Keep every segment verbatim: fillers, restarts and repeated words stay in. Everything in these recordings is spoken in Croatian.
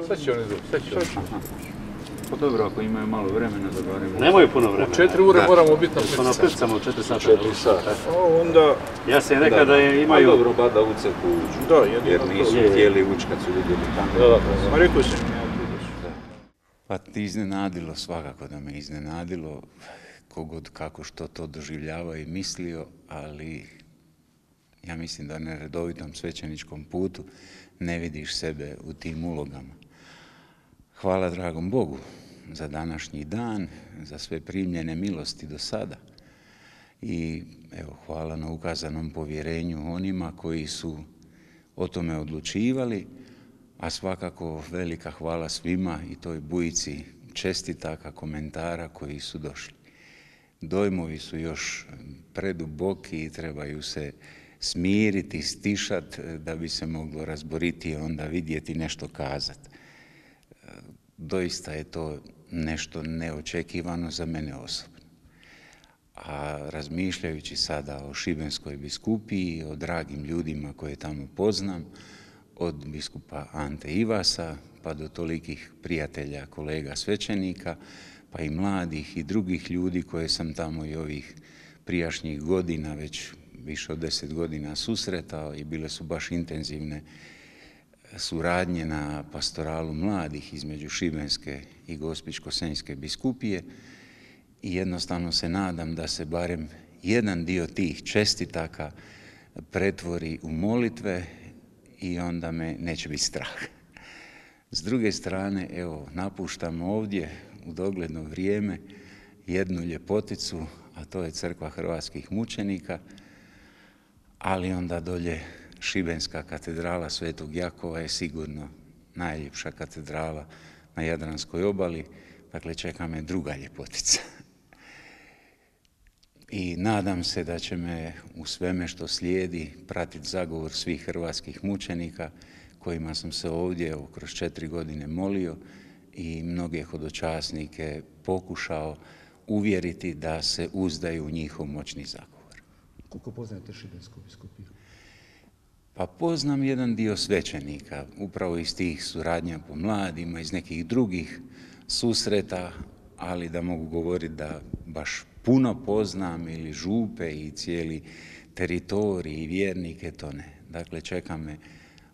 Sad će oni doći, sad će oni. Pa dobro, ako imaju malo vremena da barem... Nemaju puno vremena. U četiri ure moramo biti na Pa na prcama u četiri sata. četiri sata. Onda... Ja sam rekao da je imaju... Pa dobro, bada u crku uđu. Da, jer nisu htjeli ući kad su vidjeli tamo. Da, da, ma rekao sam ja tu. Pa ti iznenadilo, svakako da me iznenadilo, kogod kako što to doživljava i mislio, ali ja mislim da na redovitom svećeničkom putu ne vidiš sebe u tim ulogama. Hvala dragom Bogu za današnji dan, za sve primljene milosti do sada. I evo, hvala na ukazanom povjerenju onima koji su o tome odlučivali, a svakako velika hvala svima i toj bujici čestitaka, komentara koji su došli. Dojmovi su još preduboki i trebaju se smiriti, stišati da bi se moglo razboriti i onda vidjeti nešto kazati. Doista je to nešto neočekivano za mene osobno. A razmišljajući sada o Šibenskoj biskupiji, o dragim ljudima koje tamo poznam, od biskupa Ante Ivasa pa do tolikih prijatelja, kolega svećenika, pa i mladih i drugih ljudi koje sam tamo i ovih prijašnjih godina, već više od deset godina susretao i bile su baš intenzivne suradnje na pastoralu mladih između Šibenske i Gospićko-senjske biskupije i jednostavno se nadam da se barem jedan dio tih čestitaka pretvori u molitve i onda me neće biti strah. S druge strane, evo, napuštam ovdje u dogledno vrijeme jednu ljepoticu, a to je Crkva hrvatskih mučenika, ali onda dolje Šibenska katedrala Svetog Jakova je sigurno najljepša katedrala na Jadranskoj obali, dakle čeka me druga ljepotica. I nadam se da će me u sveme što slijedi pratiti zagovor svih hrvatskih mučenika kojima sam se ovdje evo, kroz četiri godine molio i mnoge hodočasnike pokušao uvjeriti da se uzdaju u njihov moćni zagovor. Koliko poznajete Šibensku biskupiju? Pa poznam jedan dio svećenika, upravo iz tih suradnja po mladima, iz nekih drugih susreta, ali da mogu govoriti da baš puno poznam ili župe i cijeli teritorij i vjernike, to ne. Dakle, čeka me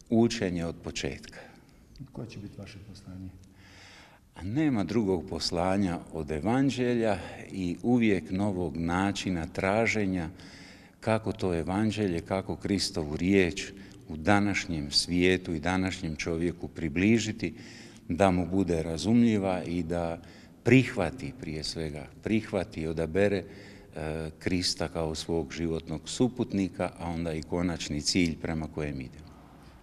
učenje od početka. Koje će biti vaše poslanje? A nema drugog poslanja od evanđelja i uvijek novog načina traženja kako to evanđelje, kako Kristovu riječ u današnjem svijetu i današnjem čovjeku približiti, da mu bude razumljiva i da prihvati prije svega, prihvati i odabere e, Krista kao svog životnog suputnika, a onda i konačni cilj prema kojem idemo.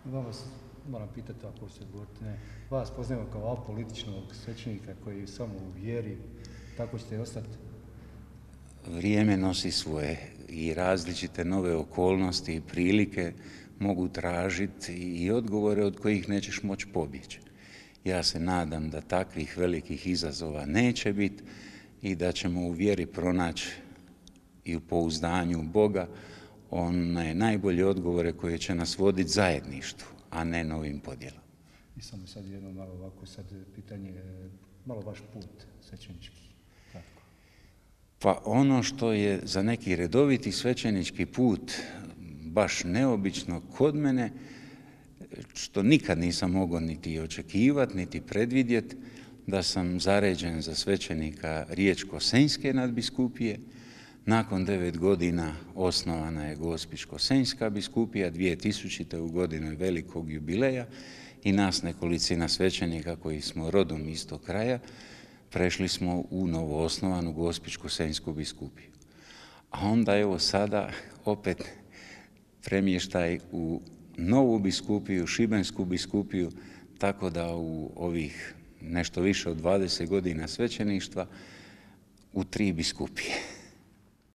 Vas moram pitati, ako se govorite, ne, vas poznajemo kao apolitičnog svećenika koji je samo u vjeri, tako ćete ostati? Vrijeme nosi svoje i različite nove okolnosti i prilike mogu tražiti i odgovore od kojih nećeš moći pobjeći. Ja se nadam da takvih velikih izazova neće biti i da ćemo u vjeri pronaći i u pouzdanju Boga one najbolje odgovore koje će nas voditi zajedništvu, a ne novim podjelama. I samo sad jedno malo ovako sad pitanje, malo vaš put svećenički. Tako. Pa ono što je za neki redoviti svećenički put baš neobično kod mene, što nikad nisam mogao niti očekivati, niti predvidjeti, da sam zaređen za svećenika Riječko-senjske nadbiskupije. Nakon devet godina osnovana je Gospićko-senjska biskupija, dvije tisućite u godinu velikog jubileja i nas nekolicina svećenika koji smo rodom iz tog kraja prešli smo u novoosnovanu Gospićko-senjsku biskupiju. A onda evo sada opet premještaj u novu biskupiju, Šibensku biskupiju, tako da u ovih nešto više od dvadeset godina svećeništva u tri biskupije.